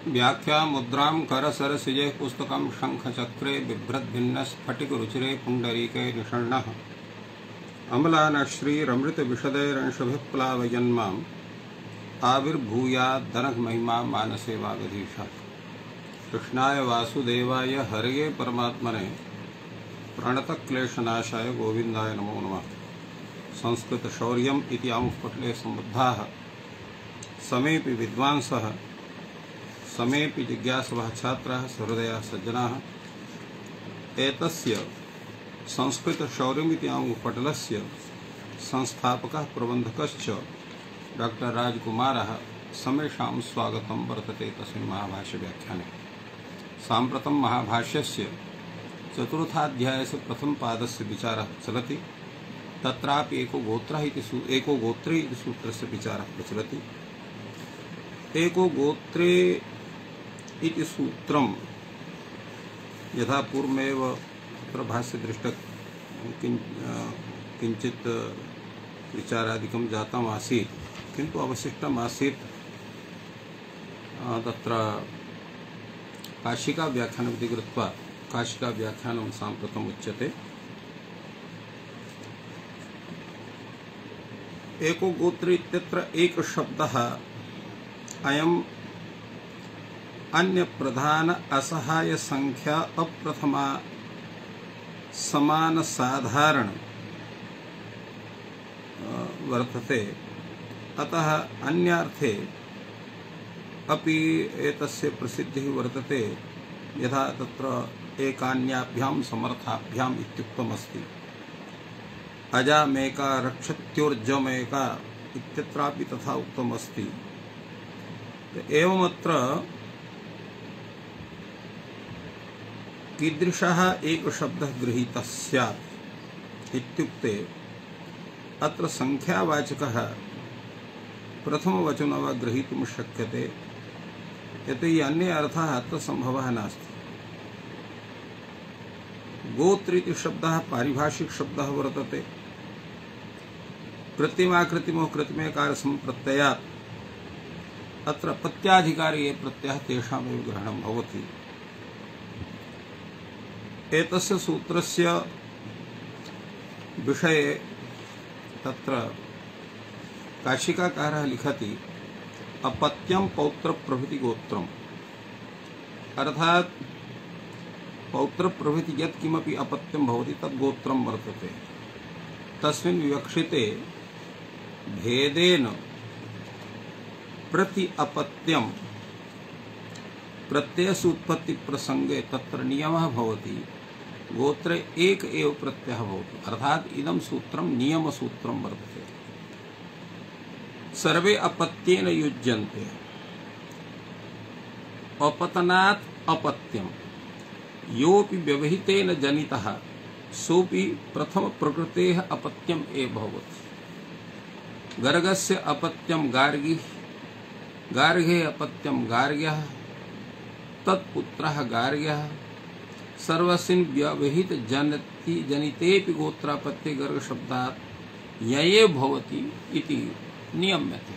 व्याख्या मुद्रां करसरसिजे पुस्तकं शंखचक्रे बिभ्रद्भिन्नस्फटिकरुचिरे पुण्डरीके निषण्णः अमलानश्रीरमृतविशदैरंशभिप्लावयन्माम् आविर्भूयाद्दनघमहिमा मानसे वागधीशः। कृष्णाय वासुदेवाय हरये परमात्मने प्रणतक्लेशनाशाय गोविन्दाय नमो नमः। संस्कृतशौर्यम् इति आमुखपटले सम्बद्धाः समेऽपि विद्वांसः समेऽपि जिज्ञासवः छात्राः सहृदयाः सज्जनाः एतस्य संस्कृतशौर्यमिति आमुखपटलस्य संस्थापकः प्रबन्धकश्च डॉक्टर राजकुमारः समेषां स्वागतं वर्तते तस्मिन् महाभाष्यव्याख्याने। साम्प्रतं महाभाष्यस्य चतुर्थाध्यायस्य प्रथमपादस्य विचारः चलति। तत्रापि एको गोत्रे इति सूत्रस्य विचारः प्रचलति। एको गोत्रे इति सूत्रं यथा पूर्वमेव तत्र भाष्यदृष्टः किञ्चित् विचारादिकं जातम् आसीत्, किन्तु अवशिष्टम् आसीत् तत्र काशिका व्याख्यानमिति कृत्वा काशिका व्याख्यानं साम्प्रतम् उच्यते। एको गोत्र इत्यत्र एक शब्दः अयम् अन्य प्रधान असहाय संख्या अप्रथमा समान साधारण वर्तते। अतः अन्यार्थे अपि एतस्य प्रसिद्धिः वर्तते, यथा तत्र एकान्याभ्यां समर्थाभ्याम् इत्युक्तमस्ति। अजामेका रक्षत्योर्जमेका इत्यत्रापि तथा उक्तमस्ति। एवमत्र कीदृशः एक शब्दः गृहीतः स्यात् इत्युक्ते अत्र संख्यावाचकः प्रथमवचनं वा ग्रहीतुं शक्यते, यतोहि अन्ये अर्थः अत्र सम्भवः नास्ति। गोत्र इति शब्दः पारिभाषिक शब्दः वर्तते। कृत्रिमाकृतिमो कृत्रिमेकारसम्प्रत्ययात् अत्र प्रत्याधिकारी ये प्रत्ययः तेषामेव ग्रहणं भवति। एतस्य सूत्रस्य विषये तत्र काशिकाकारः लिखति अपत्यं पौत्र प्रभृति गोत्रम्, अर्थात् पौत्र प्रभृति यत् किमपि अपत्यं भवति तद् गोत्रं वर्तते। तस्मिन् विवक्षिते भेदेन प्रति अपत्यं प्रत्ययस्य उत्पत्ति प्रसंगे तत्र नियमः भवति। गोत्रे एक एव प्रत्ययः भवति, अर्थात् इदं सूत्रं नियमसूत्रं वर्तते। सर्वे अपत्येन युज्यन्ते। अपतनात् अपत्यं योऽपि व्यवहितेन जनितः सोऽपि प्रथम प्रकृतेः अपत्यम् एव भवति। गर्गस्य अपत्यं गार्गिः, गार्गेः अपत्यं गार्ग्यः, तत्पुत्रः गार्ग्यः। सर्वस्मिन् व्यवहित जनितेऽपि गोत्रापत्ये गर्ग शब्दात् यये भवति इति नियम्यते।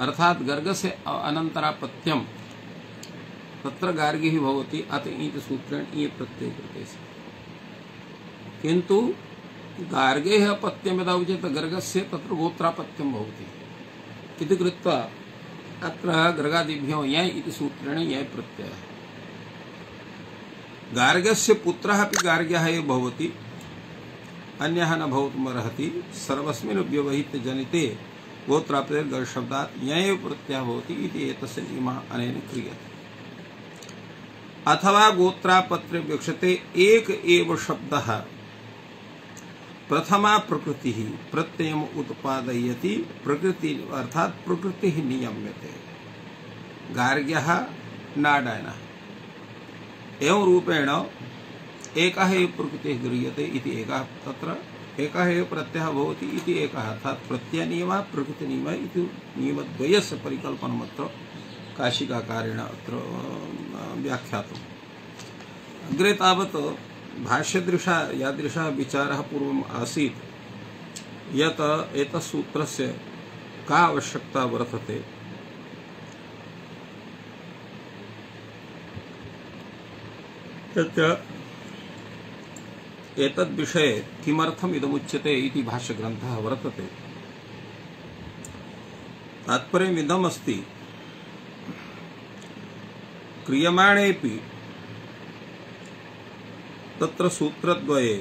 अर्थात् गर्गस्य अनन्तरापत्यं तत्र गार्गिः भवति, अत इति सूत्रेण ये प्रत्यय कृते स्म। किन्तु गार्गेः अपत्यं यदा उच्यते गर्गस्य तत्र गोत्रापत्यं भवति इति कृत्वा अत्र गर्गादिभ्यो यय इति सूत्रेण यय प्रत्ययः। गार्गस्य पुत्रः अपि गार्ग्यः एव भवति, अन्यः न भवितुमर्हति। सर्वस्मिन् व्यवहित जनिते गोत्रापत्ये गर्ग शब्दात् यय प्रत्ययः भवति इति एतस्य नियमः अनेन क्रियते। अथवा गोत्रापत्रे विवक्षते एक एव शब्दः प्रथमा प्रकृतिः प्रत्ययम् उत्पादयति। प्रकृति अर्थात् प्रकृतिः नियम्यते। गार्ग्यः नाडायनः एवं रूपेण एकः एव प्रकृतिः गृह्यते इति एकः तत्र एकः एव प्रत्ययः भवति इति एकः, अर्थात् प्रत्ययनियमः प्रकृतिनियमः इति नियमद्वयस्य परिकल्पनमत्र काशिकाकारेण अत्र व्याख्यातम्। अग्रे तावत् भाष्यदृशा यादृशः विचारः पूर्वम् आसीत् यत् एतत्सूत्रस्य का आवश्यकता वर्तते। तत्र एतद्विषये किमर्थम् इदमुच्यते इति भाष्यग्रन्थः वर्तते। तात्पर्यमिदमस्ति, क्रियमाणेऽपि तत्र सूत्रद्वये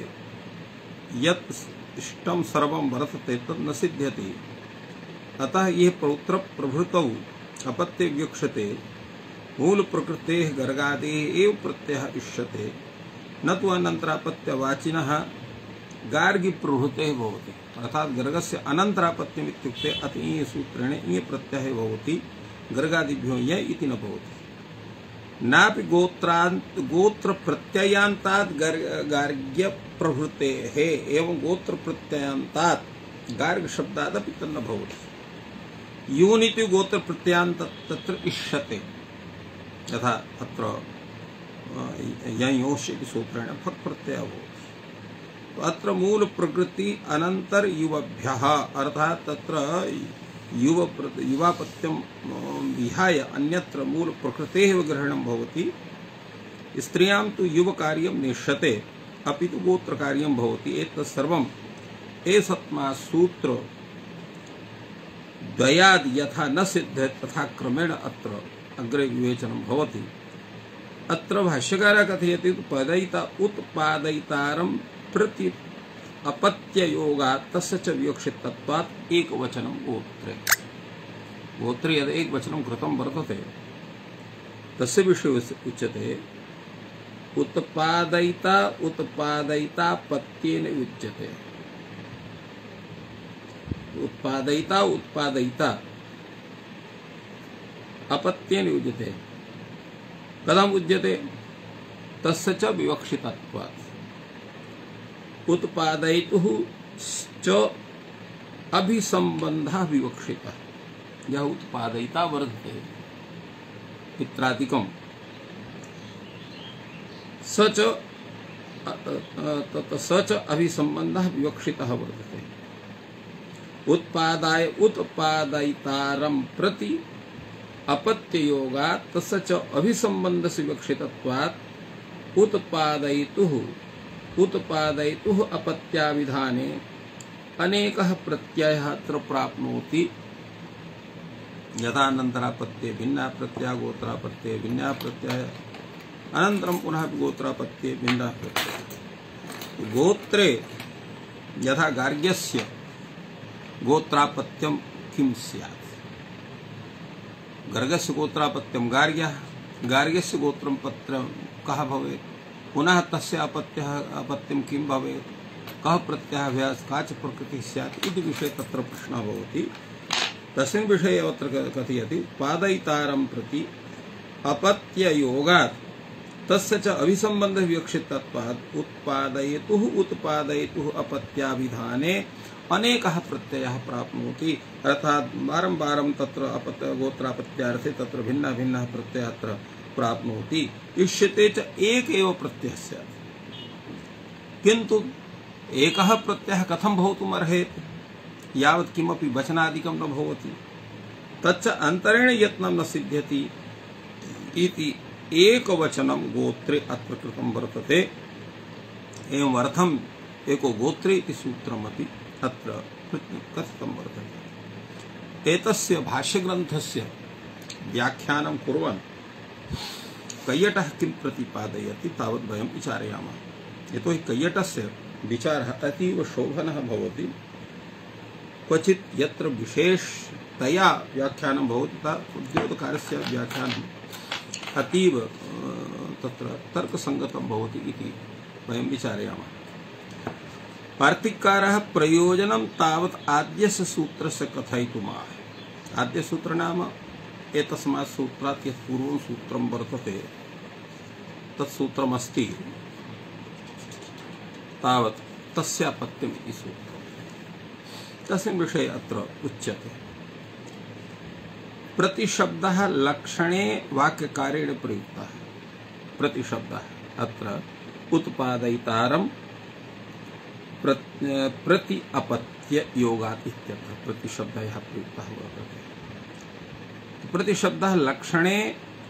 यत् इष्टं सर्वं वर्तते तत् न सिद्ध्यति। अतः ये पौत्र प्रभृतौ अपत्ये व्युक्ष्यते मूल प्रकृतेः गर्गादेः एव प्रत्ययः इष्यते, न तु अनन्तरापत्यवाचिनः गार्गी प्रभृतेः भवति। अर्थात गर्गस्य अनन्तरापत्यम् इत्युक्ते अतीय सूत्रेण इय प्रत्ययः भवति, गर्गादिभ्यो य इति न भवति। नापि गोत्र प्रत्ययान्तात् गार्ग्य प्रभृतेः एवं गोत्र प्रत्ययान्तात् गार्ग शब्दादपि तन्न भवति। यूनिति गोत्र प्रत्ययान्त तत्र इष्यते, यथा अत्र ययोश् इति सूत्रेण फक् प्रत्ययः भवति। अत्र मूल प्रकृति अनंतर युवभ्यः अर्थात तत्र युवापत्यं विहाय अन्यत्र मूल प्रकृतेः ग्रहणं भवति। स्त्रियां तु युवकार्यं नेष्यते, अपि तु गोत्रकार्यं भवति। एतत् सर्वम् एषत्मा सूत्र द्वयाद् यथा न सिद्ध्यति तथा क्रमेण अत्र अग्रे विवेचनं भवति। अत्र भाष्यकारः कथयति उत्पादयितारं प्रति अपत्ययोगात् तस्य च विवक्षितत्वात् एकवचनं गोत्रे। गोत्रे यद् एकवचनं कृतं वर्तते तस्य विषये उच्यते उत्पादयिता उत्पादयिता पत्येन युज्यते। उत्पादयिता उत्पादयिता अपत्येन युज्यते। कथम उच्यते? तस्य च विवक्षितत्वात्। उत्पादयितुः च अभिसंबन्धः विवक्षितः। यः उत्पादयिता वर्तते पित्रादिकं स च अभिसंबन्धः विवक्षितः वर्तते। उत्पादाय उत्पादयितारं प्रति अपत्ययोगात् तस्य च अभिसंबन्धस्य विवक्षितत्वात् उत्पादयितुः अपत्याविधाने अनेकः प्रत्ययः अत्र प्राप्नोति। यथा अनन्तरापत्ये भिन्नः प्रत्ययः, गोत्रापत्ये भिन्नः प्रत्ययः, अनन्तरं पुनः गोत्रापत्ये भिन्नः प्रत्ययः। गोत्रे यथा गार्ग्यस्य गोत्रापत्यं किं स्यात्? गर्गस्य गोत्रापत्यं गार्ग्यः, गार्ग्यस्य गोत्रं पत्रं कः भवेत्? पुनः तस्य अपत्यं किं भवेत्? कः प्रत्ययाभ्यास का च प्रकृतिः स्यात् इति विषये तत्र प्रश्नः भवति। तस्मिन् विषये अत्र कथयति उत्पादयितारं प्रति अपत्ययोगात् तस्य च अभिसंबन्धः विवक्षितत्वात् उत्पादयितुः अपत्याभिधाने अनेकः प्रत्ययः प्राप्नोति। अर्थात् बारं तत्र गोत्रापत्यार्थे तत्र भिन्नः प्रत्ययः अत्र प्राप्नोति। इष्यते च एक एव प्रत्ययः स्यात्, किन्तु एकः प्रत्ययः कथं भवितुमर्हेत्? यावत् किमपि वचनादिकं न भवति, तच्च अन्तरेण यत्नं न सिद्ध्यति इति एकवचनं गोत्रे अत्र कृतं वर्तते। एवम् अर्थम् एको गोत्रे इति सूत्रमपि अत्र कथितं वर्तते। एतस्य भाष्यग्रन्थस्य व्याख्यानं कुर्वन् कैयटः किं प्रतिपादयति तावत् वयं विचारयामः। यतोहि कैयटस्य विचारः अतीव शोभनः भवति। क्वचित् यत्र विशेषतया व्याख्यानं भवति तथा उद्योतकारस्य व्याख्यानम् अतीव तत्र तर्कसङ्गतं भवति इति वयं विचारयामः। वार्तिककारः प्रयोजनं तावत् आद्यस्य सूत्रस्य कथयितुमाह। आद्यसूत्र नाम एतस्मात् सूत्रात् यत् पूर्वं सूत्रं वर्तते तत्सूत्रमस्ति तावत् तस्यापत्यम् इति सूत्रम्। तस्मिन् विषये अत्र उच्यते प्रतिशब्दः लक्षणे वाक्यकारेण प्रयुक्तः। प्रतिशब्दः अत्र उत्पादयितारं प्रति अपत्य योगात् इत्यत्र प्रतिशब्दः प्रयुक्तः वर्तते। प्रतिशब्दः लक्षणे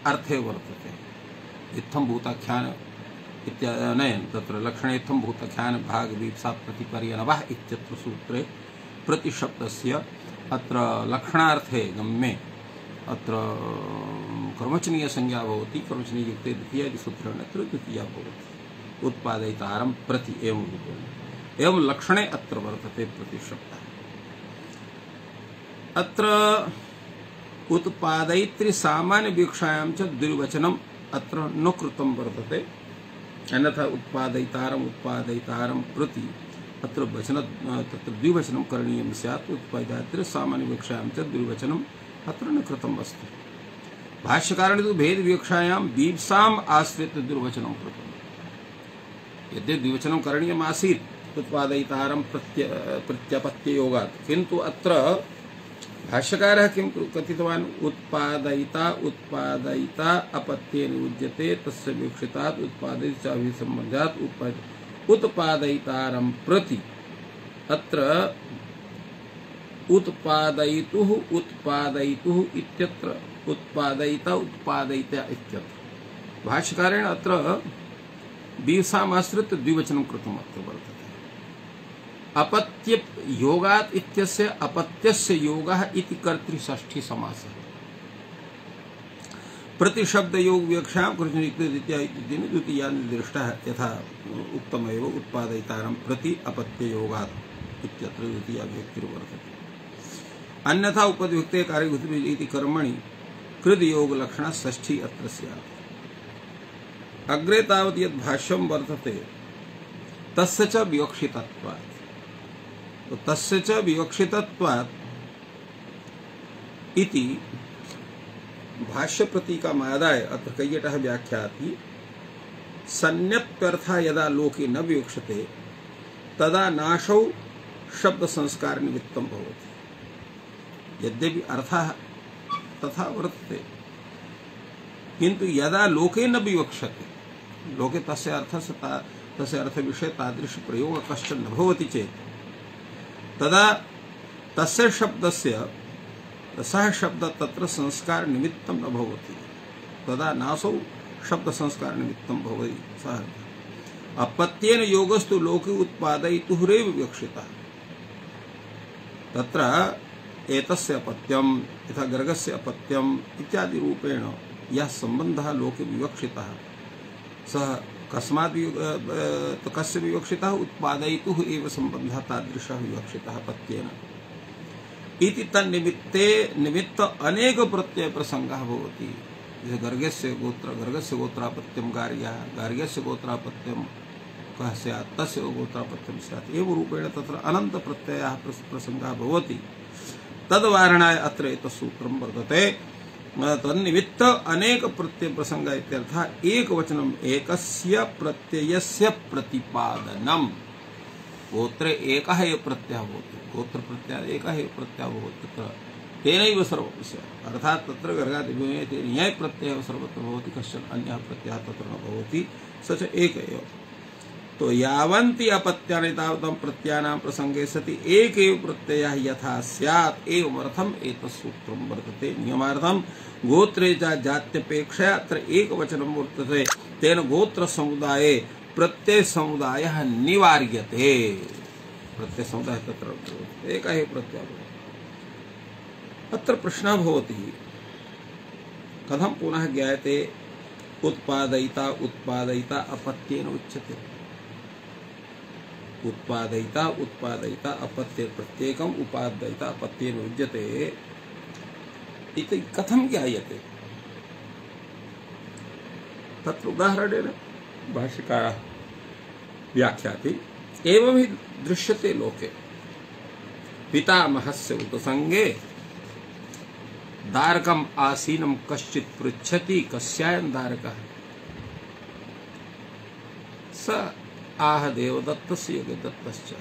अर्थे वर्तते। इत्थं भूताख्यान इत्यनेन तत्र लक्षणेत्थं भूतख्यान भाग वीप्सा प्रतिपर्यनवः इत्यत्र सूत्रे प्रतिशब्दस्य अत्र लक्षणार्थे गम्ये अत्र कर्मचनीय संज्ञा भवति कर्मचनीय युक्ते द्वितीया इति सूत्रेण अत्र द्वितीया भवति उत्पादयितारं प्रति एवं रूपेण एवं लक्षणे अत्र वर्तते प्रतिशब्दः अत्र उत्पादयित्री सामान्य वीक्षायां च द्विवचनम् अत्र न कृतं वर्तते अन्यथा उत्पादयितारं प्रति अत्र वचन तत्र द्विवचनं करणीयं स्यात् उत्पादयित्री सामान्य वीक्षायां च द्विवचनम् अत्र न कृतम् अस्ति भाष्यकारेण तु भेद वीक्षायां वीप्साम् आश्रित्य द्विवचनं कृतम् यद्यपि द्विवचनं करणीयम् आसीत् उत्पादयितारं प्रत्यपत्ययोगात् किन्तु अत्र भाष्यकारः किं कथितवान् उत्पादयिता अपत्येन युज्यते तस्य वीक्षितात् उत्पादयिताभिसम्बन्धात् उत्पादयितारं प्रति अत्र उत्पादयितुः इत्यत्र उत्पादयिता इत्यत्र भाष्यकारेण अत्र वीप्सामाश्रित्य द्विवचनं कृतम् अत्र वर्तते अपत्य योगात् इत्यस्य अपत्यस्य योगः इति कर्तृषष्ठी समासः प्रतिशब्द योग विवक्षां द्वितीया निर्दिष्टः यथा उक्तमेव उत्पादयितारं प्रति अपत्य योगात् इत्यत्र द्वितीया व्यक्तिर्वर्तते अन्यथा उपद्युक्ते कार्यभूति इति कर्मणि कृद योग लक्षणा षष्ठी अत्र स्यात् अग्रे तावत् यद् भाष्यं वर्तते तस्य च विवक्षितत्वात् तो तस्य च विवक्षितत्वात् इति भाष्य प्रतीकमादाय अत्र कैयटः व्याख्याति सन्न्यप्यर्थः यदा लोके न विवक्षते तदा नाशौ शब्द संस्कार निमित्तं भवति यद्यपि अर्थः तथा वर्तते किन्तु यदा लोके न विवक्षते लोके तस्य अर्थ विषये तादृश प्रयोग कश्चन न भवति चेत् तदा तस्य शब्दस्य सः शब्द तत्र संस्कार निमित्तं न भवति तदा नासौ शब्द संस्कार निमित्तं भवति सः अपत्येन योगस्तु लोके उत्पादयितुरेव विवक्षितः तत्र एतस्य अपत्यं यथा गर्गस्य अपत्यम् इत्यादि रूपेण यः सम्बन्धः लोके विवक्षितः सः कस्मात् कस्य विवक्षितः उत्पादयितुः एव सम्बन्धः तादृशः विवक्षितः पत्येन इति तन्निमित्त अनेक प्रत्यय प्रसंगः भवति गर्गस्य गोत्रापत्यं गार्ग्यस्य गोत्रापत्यं कः स्यात् तस्य गोत्रापत्यं स्यात् एवं रूपेण तत्र अनन्त प्रत्ययः प्रसंगः भवति तद्वारणाय अत्र एतत् सूत्रं वर्तते तन्निमित्त अनेक प्रत्यय प्रसंग इत्यर्थः एकवचनम् एकस्य प्रत्ययस्य प्रतिपादनम् गोत्रे एकः एव प्रत्ययः भवति गोत्र प्रत्ययः एकः एव प्रत्ययः भवति तत्र तेनैव सर्वं स्यात् अर्थात् तत्र गर्गादिभिः न्याय प्रत्ययः सर्वत्र भवति कश्चन अन्यः प्रत्ययः तत्र न भवति स च एक एव तो यावन्ति अपत्यानि तावतं प्रत्ययानां प्रसंगे सति एक एव प्रत्ययः यथा स्यात् एवमर्थम् एतत् सूत्रं वर्तते नियमार्थं गोत्रे च जात्यपेक्षया अत्र एकवचनं वर्तते तेन गोत्र समुदाये प्रत्यय समुदायः निवार्यते प्रत्यय समुदायः तत्र एकः एव प्रत्ययः अत्र प्रश्नः भवति कथं पुनः ज्ञायते उत्पादयिता अपत्येन उच्यते उत्पादयिता अपत्य प्रत्येकम् उपादयिता अपत्येन उच्यते इति कथं ज्ञायते तत्र उदाहरणेन भाष्यकारः व्याख्याति एवं हि दृश्यते लोके पितामहस्य उपसंगे दारकम् आसीनं कश्चित् पृच्छति कस्यायं दारकः स आह देवदत्तस्य योगदत्तश्च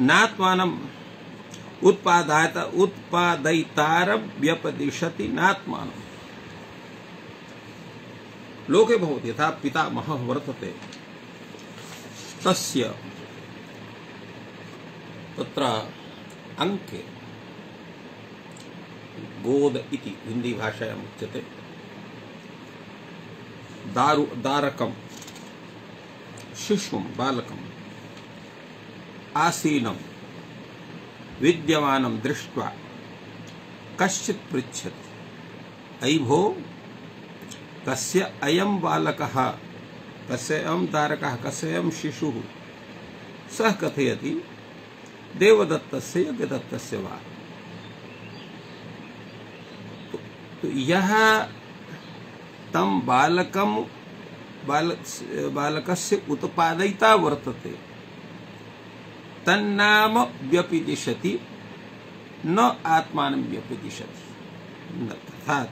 नात्मानम् उत्पादयितारं व्यपदिशति नात्मानम् लोके भवति यथा पितामहः वर्तते तस्य तत्र अंके गोद इति हिंदी भाषायाम् उच्यते दारकम शिशुम बालकम आसीनम विद्यमानं दृष्ट्वा कश्चित् पृच्छति अयि भो कस्य अयं बालकः कस्य अयं दारकः कस्य अयं शिशुः सः कथयति देवदत्तस्य यज्ञदत्तस्य वा। तो यह तम बालकस्य उत्पादयिता वर्तते तन्नाम व्यपदिशति न आत्मानं व्यपदिशति। अर्थात्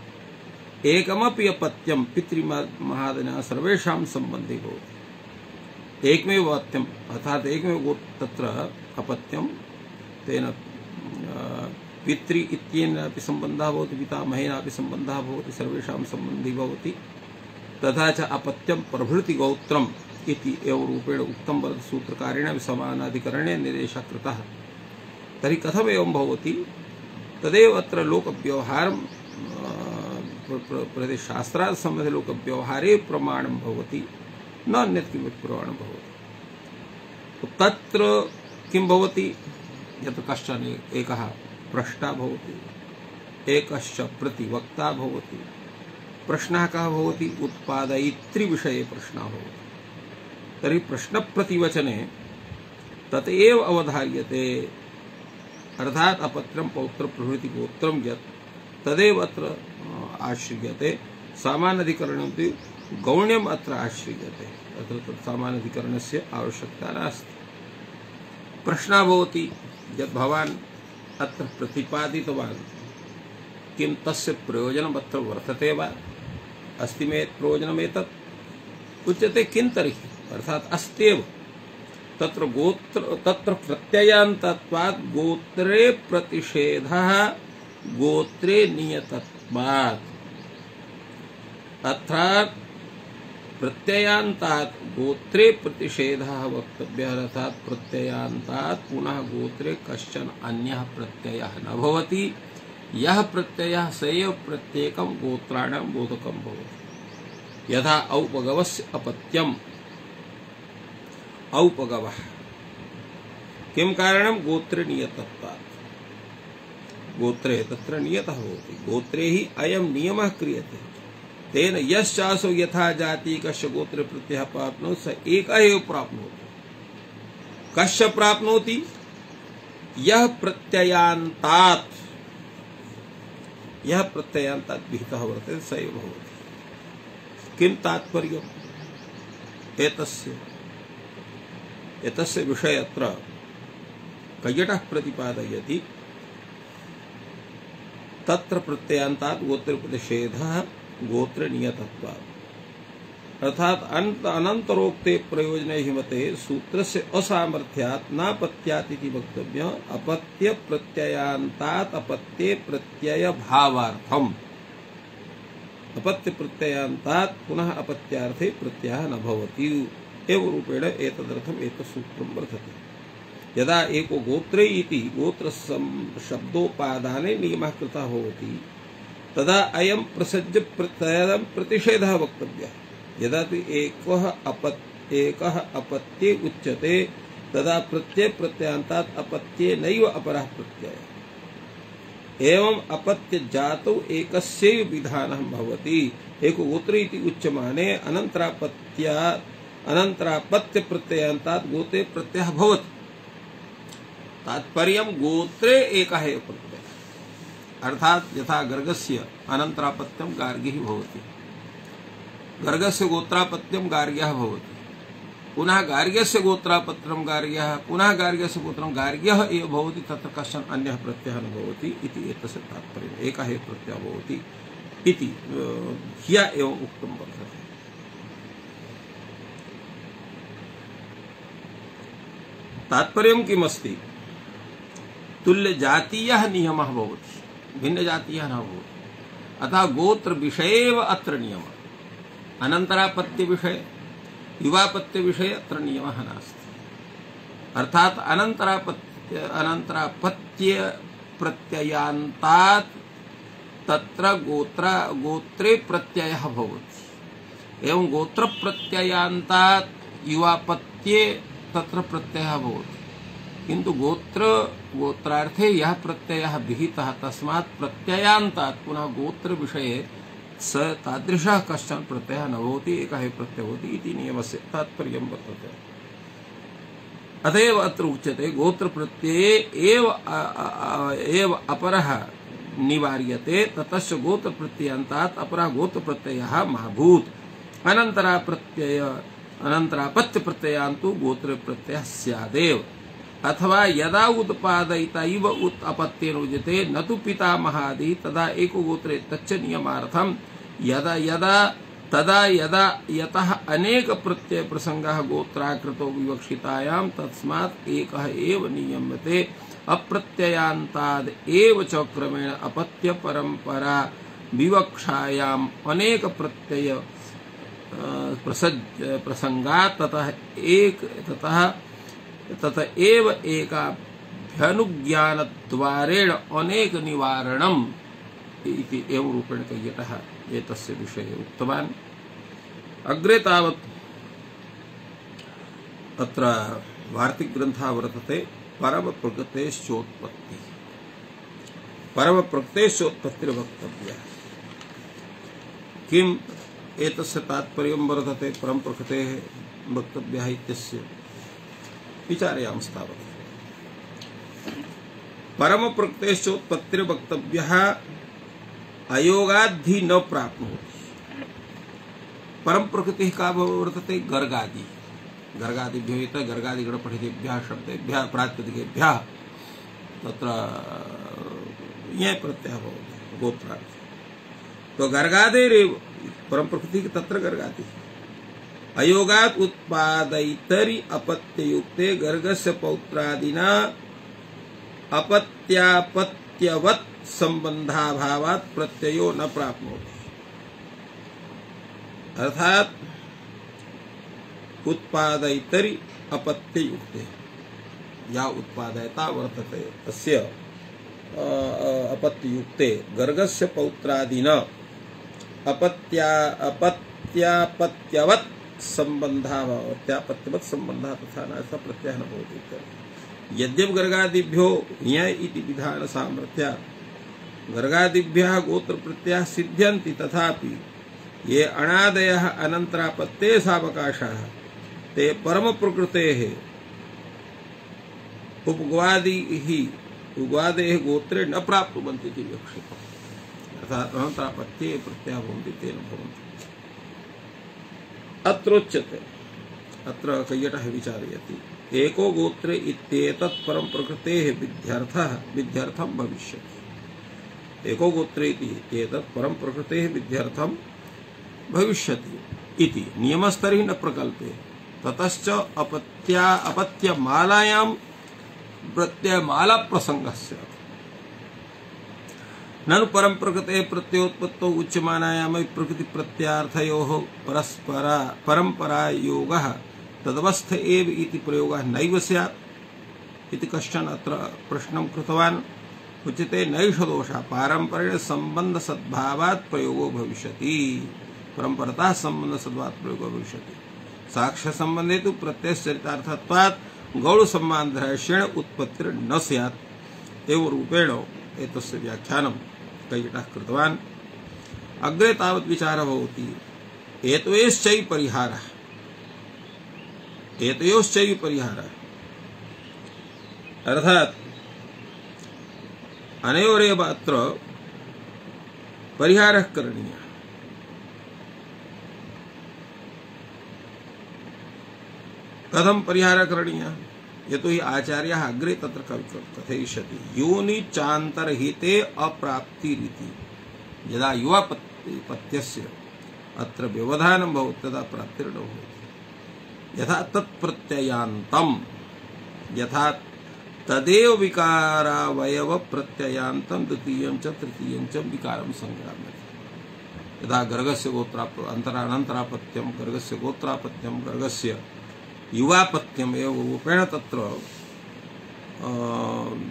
एकमपि अपत्यं पितृमहादयः सर्वेषां सम्बन्धे भवति। एकमेव अपत्यम् अर्थात् एकमेव तत्र अपत्यं तेन पितृ इत्येनापि सम्बन्धः भवति पितामहेनापि सम्बन्धः भवति सर्वेषां सम्बन्धी भवति। तथा च अपत्यं प्रभृति गोत्रम् इति एव रूपेण उक्तं वर्तते सूत्रकारेण समानाधिकरणे निर्देशः कृतः। तर्हि कथम् एवं भवति तदेव अत्र लोकव्यवहारं शास्त्रात् सम्बन्धे लोकव्यवहारे प्रमाणं भवति न अन्यत् किमपि प्रमाणं भवति। तत्र किं भवति यत् कश्चन एकः प्रष्टा भवति एकश्च प्रतिवक्ता भवति। प्रश्नः कः भवति उत्पादयितृविषये प्रश्नः भवति। तर्हि प्रश्नप्रतिवचने तदेव अवधार्यते अर्थात् अपत्रं पौत्रं प्रभृति गोत्रं यत् तदेव अत्र आश्रियते। सामान्याधिकरणमपि गौण्यम् अत्र आश्रियते। अत्र सामान्याधिकरणस्य आवश्यकता नास्ति। प्रश्नः भवति यत् भवान् अत्र प्रतिपादितवान् किं तस्य प्रयोजनम् अत्र वर्तते वा अस्ति मे प्रयोजनमेतत् उच्यते किं तर्हि अर्थात् अस्त्येव तत्र प्रत्ययान्तत्वात् गोत्रे प्रतिषेधः गोत्रे नियतत्वात् अर्थात् प्रत्ययान्तात् गोत्रे प्रतिषेधः वक्तव्यः अर्थात् प्रत्ययान्तात् पुनः गोत्रे कश्चन अन्यः प्रत्ययः न भवति। यह प्रत्ययः स एव प्रत्येकं गोत्राणां बोधकं भवति। यथा औपगवस्य अपत्यम् औपगवः किं कारणं गोत्रे नियतत्वात् गोत्रे तत्र नियतः भवति। गोत्रे हि अयं नियमः क्रियते। तेन यश्चासो यथा जाति कस्य गोत्रे प्रत्ययः प्राप्नोति स एकः एव प्राप्नोति। कस्य प्राप्नोति यः प्रत्ययान्तात् विहितः वर्तते स एव भवति। किं तात्पर्यम् एतस्य विषये अत्र कैयटः प्रतिपादयति। तत्र प्रत्ययान्तात् गोत्रे प्रतिषेधः गोत्र नियतत्वात् अर्थात् अनन्तरोक्ते प्रयोजने हिमते सूत्रस्य असामर्थ्यात् नापत्यात् इति वक्तव्यः। अपत्य प्रत्ययान्तात् अपत्ये प्रत्यय भावार्थम् अपत्य प्रत्ययान्तात् पुनः अपत्यार्थे प्रत्ययः न भवति एवं रूपेण एतदर्थम् एतत् सूत्रं वर्तते। यदा एको गोत्रे इति गोत्र शब्दोपादाने नियमः कृतः भवति तदा अयं प्रसज्य प्रत्ययं प्रतिषेधः वक्तव्यः। यदा तु एकः अपत्ये उच्यते तदा प्रत्ययान्तात् अपत्ये नैव अपरः प्रत्ययः। एवं अपत्य जातौ एकस्यैव विधानः भवति। एको गोत्रे इति उच्यमाने अनन्तरापत्य प्रत्ययान्तात् गोत्रे प्रत्ययः भवति। तात्पर्यं गोत्रे एकः एव प्रत्ययः अर्थात् यथा गर्गस्य अनन्तरापत्यं गार्गिः भवति। गर्गस्य गोत्रापत्यं गार्ग्यः भवति। पुनः गार्ग्यस्य गोत्रापत्यं गार्ग्यः पुनः गार्ग्यस्य गोत्रं गार्ग्यः एव भवति। तत्र कश्चन अन्यः प्रत्ययः न भवति इति एतस्य तात्पर्यम्। एकः एव प्रत्ययः भवति इति ह्यः एव उक्तं वर्तते। तात्पर्यं किमस्ति तुल्य जातीयः नियमः भवति भिन्न जातीयः न भवति। अतः गोत्र विषये एव अत्र नियमः। अनन्तरापत्य विषये युवापत्य विषये अत्र नियमः नास्ति। अर्थात् अनन्तरापत्य प्रत्ययान्तात् तत्र गोत्रे प्रत्ययः भवति। एवं गोत्र प्रत्ययान्तात् युवापत्ये तत्र प्रत्ययः भवति किन्तु गोत्रार्थे यः प्रत्ययः विहितः तस्मात् प्रत्ययान्तात् पुनः गोत्र विषये स तादृशः कश्चन प्रत्ययः न भवति एकः एव प्रत्ययः भवति इति नियमस्य तात्पर्यं वर्तते। अतएव अत्र उच्यते गोत्र प्रत्यये एव अपरः निवार्यते ततश्च गोत्र प्रत्ययान्तात् अपरः गोत्र प्रत्ययः मा भूत् अनन्तरापत्य प्रत्ययान्तु गोत्र प्रत्ययः स्यादेव। अथवा यदा उत्पादयिता इव अपत्येन उच्यते न तु पितामहादि तदा एको गोत्रे तच्च नियमार्थं तदा यदा यतः अनेक प्रत्यय प्रसंगः गोत्राकृतो विवक्षितायां तस्मात् एकः एव नियम्यते अप्रत्ययान्ताद् एव च क्रमेण अपत्य परंपरा विवक्षायाम् अनेक प्रत्यय प्रसंगात् ततः एव एकाभ्यनुज्ञानद्वारेण अनेक निवारणम् इति एवं रूपेण कैयटः एतस्य विषये उक्तवान्। अग्रे तावत् अत्र वार्तिकग्रन्थः वर्तते परमप्रकृतेश्चोत्पत्तिर्वक्तव्यः। किम् एतस्य तात्पर्यं वर्तते परमप्रकृतेः वक्तव्यः इत्यस्य विचारयामस्तावत्। परमप्रकृतेश्चोत्पत्तिर्वक्तव्यः अयोगाद्धि न प्राप्नोति। परम प्रकृति का वर्तते गर्गादिभ्यो इत गर्गादिगणपठितेभ्यः शब्देभ्यः प्रातिपदिकेभ्यः तत्र यः प्रत्ययः भवति गोत्रार्थे। तो गर्गादेरेव परम प्रकृति तत्र गर्गादि अयोगात् उत्पादयितरि अपत्ययुक्ते गर्गस्य पौत्रादिना अपत्यापत्यवत् संबंधाभावात् प्रत्ययो न प्राप्नोति। अर्थात उत्पादयितरि अपत्ययुक्ते या उत्पादयता वर्तते तस्य अपत्ययुक्ते गर्गस्य पौत्रादिना अपत्यापत्यवत् संबंधाभावात् संबंधः तथा न प्रत्ययः न भवति। यद्यपि गर्गादिभ्यो य इति विधान सामर्थ्यात् गर्गादिभ्यः गोत्र प्रत्ययः सिद्ध्यन्ति तथापि ये अणादयः अनन्तरापत्ते सावकाशाः ते परम प्रकृतेः उग्वादेः गोत्रे न प्राप्नुवन्ति इति विवक्षितम्। अर्थात् अनन्तरापत्ये प्रत्ययः भवन्ति ते न भवन्ति। अत्रोच्यते अत्र कैयटः विचारयति एको गोत्रे इत्येतत् परम प्रकृतेः विध्यर्थं भविष्यति। एको गोत्रे इत्येतत् परम प्रकृतेः विध्यर्थं भविष्यति इति नियमस्तरी न प्रकल्पे ततश्च अपत्यमालायां प्रत्ययमाला प्रसंगस्य ननु परम प्रकृतेः प्रत्ययोत्पत्तौ उच्यमानायां प्रकृति प्रत्यार्थयोः परंपरा योगः तदवस्थ एव इति प्रयोगः नैव स्यात् इति कश्चन अत्र प्रश्नं कृतवान्। उच्यते नैष दोषः पारंपरेण संबंध सद्भावात् प्रयोगो भविष्यति। परंपरतः संबंध सद्भावात् प्रयोगो भविष्यति। साक्ष्य संबंधे तु प्रत्ययश्चरितार्थत्वात् गौण सम्बन्धेन उत्पत्तिर न स्यात्। एवं रूपेण एतस्य व्याख्यानं कैयटः कृतवान्। अग्रे तावत् विचारः भवति एतयोश्चैव परिहारः अर्थात् अनयोरेव अत्र परिहारः करणीयः। कथं परिहारः करणीयः? यतो हि आचार्यः अग्रे तत्र कथयिष्यति योनि चान्तरहिते अप्राप्तिरिति। यदा युवापत्यस्य अत्र व्यवधानं भवति तदा प्राप्तिर्न भवति। यथा तत्प्रत्ययान्तं यथा तदेव विकारावयव प्रत्ययान्तं द्वितीयं च तृतीयं च विकारं संग्राम्यते। यदा गर्गस्य अनन्तरापत्यं गर्गस्य गोत्रापत्यं गर्गस्य युवापत्यम् एव रूपेण तत्र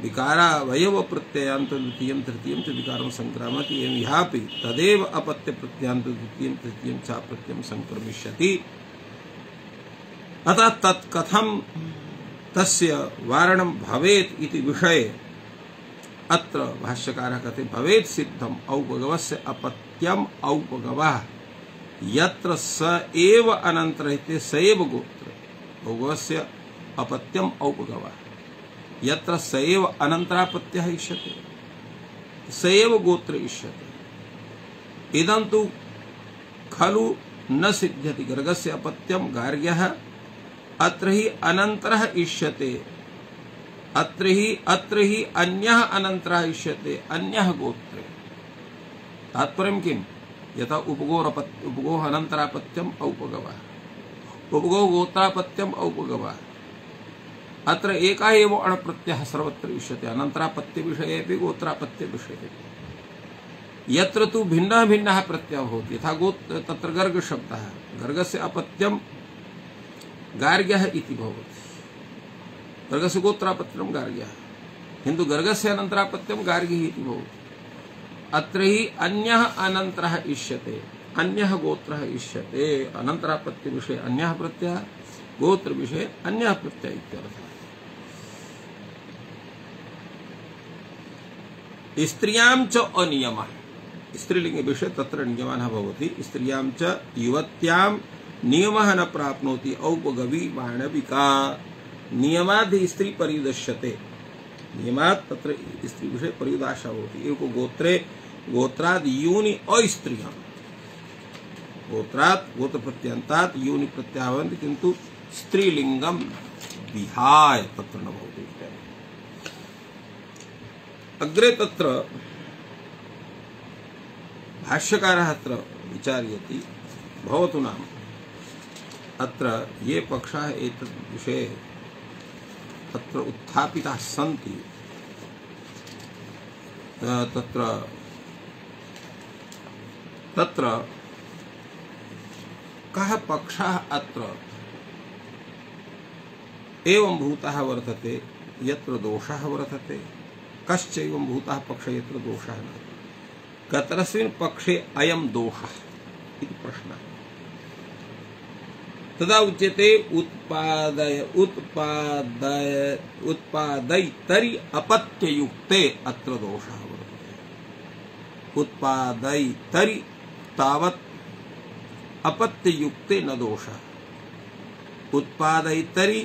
विकारावयव प्रत्ययान्त द्वितीयं तृतीयं च विकारं संक्रामति एवं यापि तदेव अपत्य प्रत्ययान्त द्वितीयं तृतीयं च प्रत्ययं संक्रमिष्यति। अतः तत् कथं तस्य वारणं भवेत् इति विषये अत्र भाष्यकारः कहते भवेत् सिद्धम् औपगवस्य अपत्यम् औपगवः यत्र स एव अनन्तरहिते स एव गोत्र औपगवस्य अपत्यम् औपगवः यत्र स एव अनन्तरापत्यः इष्यते स एव गोत्र इष्यते। इदं तु खलु न सिद्ध्यति गर्गस्य अपत्यं गार्ग्यः अत्र हि अनन्तरः इष्यते अत्र ही अन्यः अनन्तरः इष्यते अन्यः गोत्रे। तात्पर्यं किं यथा उपगोः अनन्तरापत्यम् औपगवः उपगोः गोत्रापत्यम् औपगवः अत्र एकः एव अणप्रत्ययः सर्वत्र इष्यते अनन्तरापत्य विषये अपि गोत्रापत्य विषये यत्र तु भिन्नः भिन्नः प्रत्ययः भवति यथा तत्र गर्ग शब्दः गर्गस्य अपत्यं गार्ग्यः इति भवति गर्गस्य गोत्रापत्यं गार्ग्यः किन्तु गर्गस्य अनन्तरापत्यं गार्गिः इति भवति। अत्र हि अन्यः अनन्तरः इष्यते अन्यः गोत्रः इष्यते अनन्तरापत्य विषये अन्यः प्रत्ययः गोत्र विषये अन्यः प्रत्ययः इत्यर्थः। स्त्रियां च अनियमः स्त्रीलिंग विषये तत्र नियमः भवति स्त्रियां च युवत्यां नियमः न प्राप्नोति औपगवी माणविका नियमाद् स्त्री परिदश्यते नियमात् तत्र स्त्री विषये परिदाशा भवति। एको गोत्रे गोत्राद् यूनि अस्त्रियः गोत्रात् गोत्र प्रत्यन्तात् यूनि प्रत्ययः भवन्ति किन्तु स्त्रीलिंगं विहाय तत्र न भवति। अग्रे तत्र भाष्यकारः अत्र विचारयति भवतु नाम अत्र ये पक्षाः एतत् विषये तत्र उत्थापिताः सन्ति तत्र तत्र कः पक्षः अत्र एवं भूतः वर्तते यत्र दोषः वर्तते कश्च एवं भूतः पक्षः यत्र दोषः न कतरस्मिन् पक्षे अयं दोषः इति प्रश्नः तदा उच्यते उत्पादयितरि अपत्ययुक्ते अत्र दोषः वर्तते उत्पादयितरि तावत् अपत्ययुक्ते न दोषः उत्पादयितरि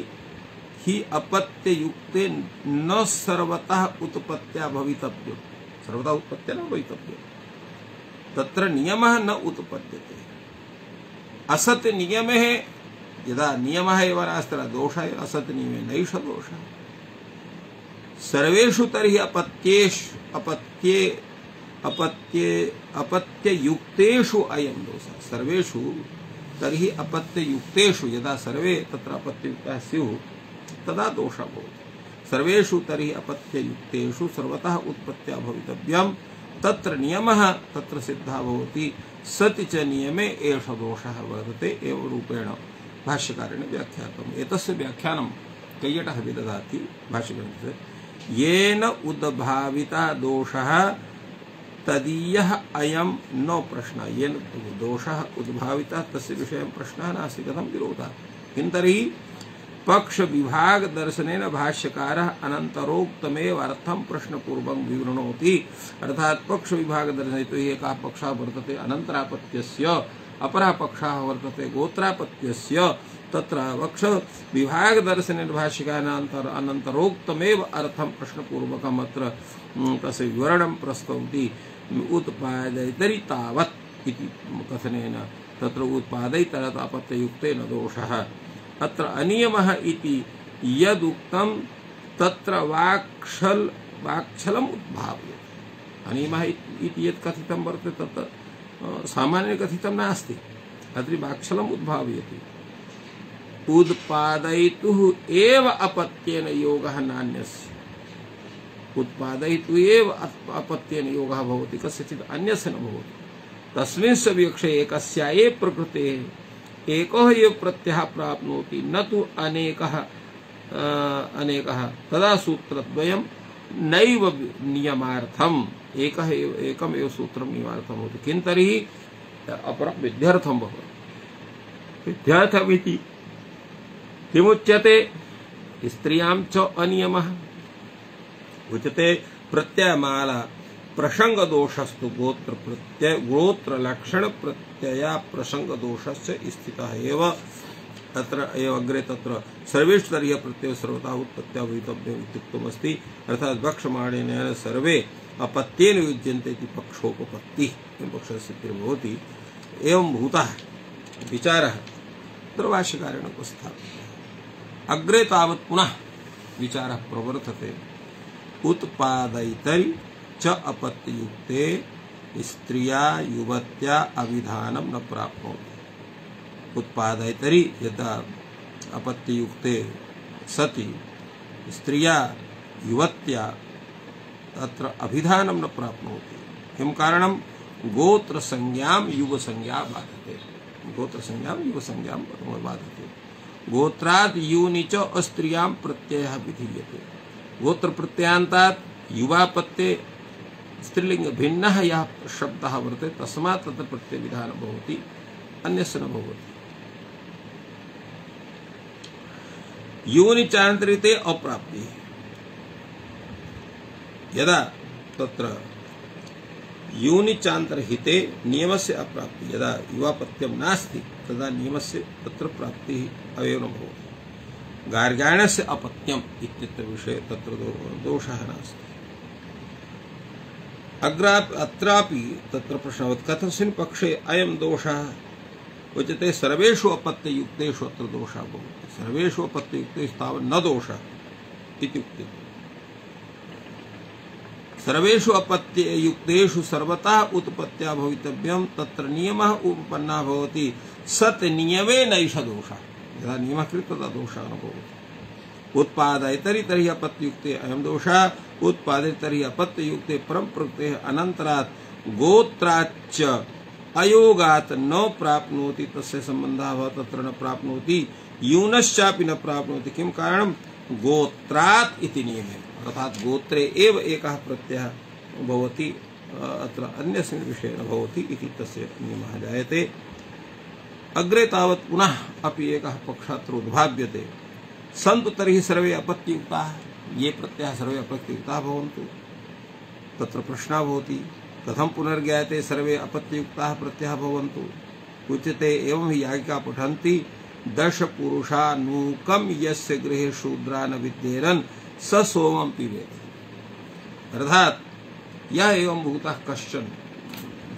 ही अपत्ययुक्ते न सर्वतः उत्पत्त्या भवितव्यं सर्वदा उत्पत्त्या न भवितव्यं तत्र नियमः न उत्पद्यते असत् नियमे यदा नियमः एव नास्ति दोषः असत् नियमे नैष दोषः सर्वेषु तर्हि अपत्ययुक्तेषु अयं दोषः सर्वेषु तर्हि अपत्ययुक्तेषु यदा सर्वे तत्र अपत्ययुक्ताः स्युः तदा दोषः भवति। सर्वेषु तर्हि अपत्ययुक्तेषु सर्वतः उत्पत्त्या भवितव्यं तत्र नियमः तत्र सिद्धः भवति सति च नियमे एष दोषः वर्तते एवं रूपेण भाष्यकारेण व्याख्यातम्। एतस्य व्याख्यानं कैयटः विदधाति भाष्यग्रन्थे येन उद्भाविता दोषः तदीयः अयं न प्रश्नः येन दोषः उद्भावितः तस्य विषयं प्रश्नः नास्ति कथं विरोधः किन्तर्हि पक्ष विभाग दर्शनेन भाष्यकारः अनन्तरोक्तमेव अर्थं प्रश्नपूर्वकं विवृणोति अर्थात् पक्ष विभाग दर्शने तो एकः पक्षः वर्तते अनन्तरापत्यस्य अपरः पक्षः वर्तते गोत्रापत्यस्य तत्र पक्ष विभाग दर्शनेन भाष्यकारः अनन्तरोक्तमेव अर्थं प्रश्नपूर्वकम् अत्र तस्य विवरणं प्रस्तौति उत्पादयितरि तावत् इति कथनेन तत्र उत्पादयितरत् अपत्ययुक्तेन दोषः अत्र अनियमः इति यदुक्तं तत्र वाक्छलम् उद्भाव्यते अनियमः इति यत् कथितं वर्तते तत् सामान्य कथितं नास्ति अत्र वाक्छलम् उद्भाव्यते उत्पादयितुः एव अपत्येन योगः नान्यस्य उत्पादयितुः एव अपत्येन योगः भवति कस्यचित् अन्यस्य न भवति तस्मिन् विवक्षे एकस्या एव प्रकृतेः एको एव प्रत्ययः प्राप्नोति न तु अनेकः अनेकः तदा सूत्रद्वयं नैव नियमार्थम् एकमेव सूत्रं नियमार्थं भवति किं तर्हि अपरं विध्यर्थं भवति विध्यर्थमिति किमुच्यते स्त्रियां च अनियमः उच्यते प्रत्ययमाला प्रसंग दोषस्तु गोत्र लक्षण प्रत्यया प्रसंग दोषस्य स्थितः एव तत्र एव अग्रे तत्र सर्वेश्वरीय प्रत्यय सर्वथा उत्पत्त्या भवितव्यम् इत्युक्तमस्ति अर्थात् वक्ष्यमाणेन सर्वे अपत्येन युज्यन्ते इति पक्षोपपत्तिः पक्षस्य भवति एवं भूतः विचारः तत्र भाष्यकारेण उपस्थाप्यते अग्रे तावत् पुनः विचारः प्रवर्तते उत्पादयितरि च अपत्ययुक्ते स्त्रिया युवत्या अविधानं न प्राप्नोति उत्पादयितरि यदा अपत्ययुक्ते सति स्त्रिया युवत्या तत्र अभिधानं न प्राप्नोति किं कारणं गोत्र संज्ञां युव संज्ञा बाधते गोत्र संज्ञां युव संज्ञां बाधते गोत्रात् यूनि च अस्त्रियां प्रत्ययः विधीयते गोत्र प्रत्ययान्तात् युवापत्ये स्त्रीलिंग भिन्नः यः शब्दः वर्तते तस्मात् तत्र प्रत्यय विधानं भवति अन्यस्य न भवति यूनि चान्तरिते अप्राप्ति यदा तत्र यूनि चान्तरहिते नियमस्य अप्राप्ति यदा युवापत्यं नास्ति तदा नियमस्य तत्र प्राप्तिः एव न भवति गार्ग्याणस्य अपत्यम् इत्यत्र विषये तत्र दोषः नास्ति अत्रापि तत्र प्रश्नवत् कथस्मिन् पक्षे अयं दोषः उच्यते सर्वेषु अपत्ययुक्तेषु अत्र दोषः भवति सर्वेषु अपत्ययुक्तेषु तावत् न दोषः इत्युक्ते सर्वेषु अपत्ययुक्तेषु सर्वतः उत्पत्त्या भवितव्यं तत्र नियमः उपपन्नः भवति सत् नियमे नैष दोषः यदा नियमः कृतः तदा दोषः न भवति उत्पादयितरि तर्हि अपत्ययुक्ते अयं दोषः उत्पादितरि अपत्ययुक्ते परं प्रत्ययः अनन्तरात् गोत्राच्च अयोगात् न प्राप्नोति तस्य संबन्धः भवति तत्र न प्राप्नोति यूनश्चापि न प्राप्नोति किं कारणं गोत्रात् इति नियमे अर्थात् गोत्रे एव एकः प्रत्ययः भवति अत्र अन्यस्मिन् विषये न भवति इति तस्य नियमः जायते अग्रे तावत् पुनः अपि एकः पक्षः अत्र उद्भाव्यते सन्तु तर्हि सर्वे अपत्ययुक्ताः ये प्रत्ययाः सर्वे अपत्ययुक्ताः भवन्तु तत्र प्रश्नः भवति कथं पुनर्ज्ञायते सर्वे अपत्ययुक्ताः प्रत्ययाः भवन्तु उच्यते एवं हि याज्ञिका पठन्ति दश पुरुषानूकं यस्य गृहे शूद्रा न विद्येरन् स सोमं पिबेत् अर्थात् यः एवं भूतः कश्चन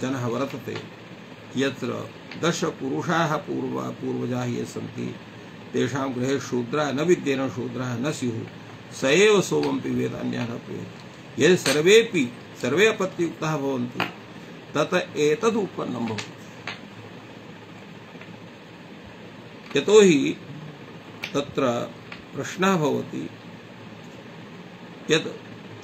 जनः वर्तते यत्र दश पुरुषाः पूर्वजाः ये सन्ति तेषां गृहे शूद्रा न विद्येरन् शूद्राः न स्युः स एव सोमं पिबेत् अन्यः न पिबेत् यदि सर्वे अपत्ययुक्ताः भवन्तु तत एतद् उत्पन्नं भवति यतोहि तत्र प्रश्नः भवति यत्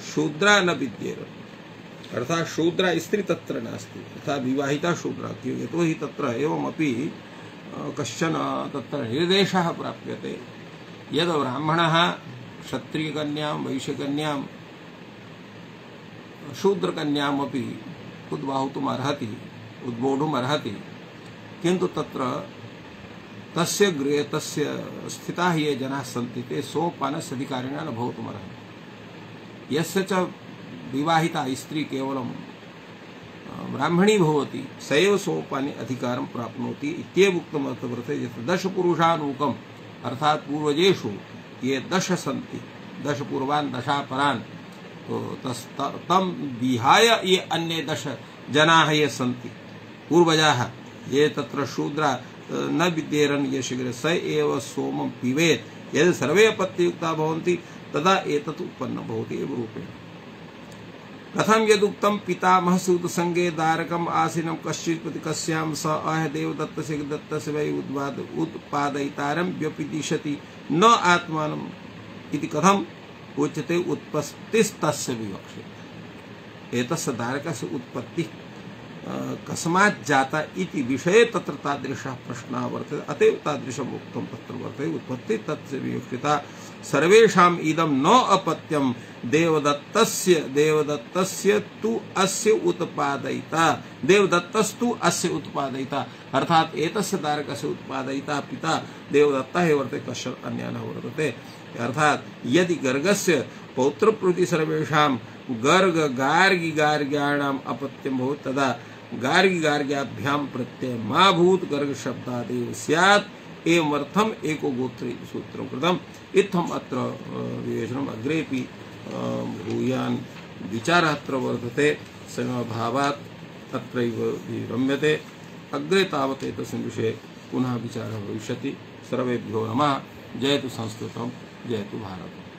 शूद्रा न विद्येरन् अर्थात् शूद्रा स्त्री तत्र नास्ति अर्थात् विवाहिता शूद्रा यतोहि तत्र एवमपि कश्चन तत्र निर्देशः प्राप्यते यद् ब्राह्मणः क्षत्रियकन्यां वैश्यकन्यां शूद्रकन्यामपि उद्बाहुतुम् अर्हति उद्बोढुम् अर्हति किन्तु तत्र तस्य गृहे तस्य स्थिताः ये जनाः सन्ति ते सोपानस्य अधिकारिणः न भवितुम् अर्हन्ति यस्य च विवाहिता स्त्री केवलं ब्राह्मणी भवति स एव सोपाने अधिकारं प्राप्नोति इत्येव उक्तम् अत्र वर्तते यत् दश पुरुषानूकम् अर्थात् पूर्वजेषु ये दश सन्ति दश पूर्वान् दशापरान् तं विहाय ये अन्ये दश जनाः ये सन्ति पूर्वजाः ये तत्र शूद्रा न विद्येरन् ये शीघ्रे स एव सोमं पिबेत् यदि सर्वे अपत्ययुक्ताः भवन्ति तदा एतत् उत्पन्नं भवति एव रूपेण कथं यदुक्तं पितामह सूतसंगे दारकम् आसीनं कश्चित् प्रति कस्यां स अह देवदत्तस्य दत्तस्य वै उत्पादयितारं व्यपदिशति न आत्मानम् इति कथम् उच्यते उत्पत्तिस्तस्य विवक्ष्यते एतस्य दारकस्य उत्पत्ति कस्मात् जाता इति विषये तत्र तादृशः प्रश्नः वर्तते अतएव तादृशम् उक्तं तत्र वर्तते उत्पत्ति तस्य विवक्षिता सर्वेषाम् इदं न अपत्यं देवदत्तस्य तु अस्य उत्पादयिता देवदत्तस्तु अस्य उत्पादयिता अर्थात एतस्य तारकस्य उत्पादयिता पिता देवदत्तः एव वर्तते, कश्चन अन्यः न वर्तते। अर्थात यदि गर्गस्य पौत्रप्रभृति सर्वेषां गर्ग गार्गी गार्ग्याणाम् अपत्यं भवति तदा गार्गी गार्ग्याभ्यां प्रत्यय मा भूत गर्ग शब्दादेव स्यात् एवमर्थम् एको गोत्र इति सूत्रं कृतम्। इत्थम् अत्र विवेचनम् अग्रेपि भूयान् विचारः अत्र वर्तते, समभावात् अत्रैव विरम्यते। अग्रे तावत् एतस्मिन् विषये पुनः विचारः भविष्यति। सर्वेभ्यो नमः। जयतु संस्कृतं, जयतु भारतम्।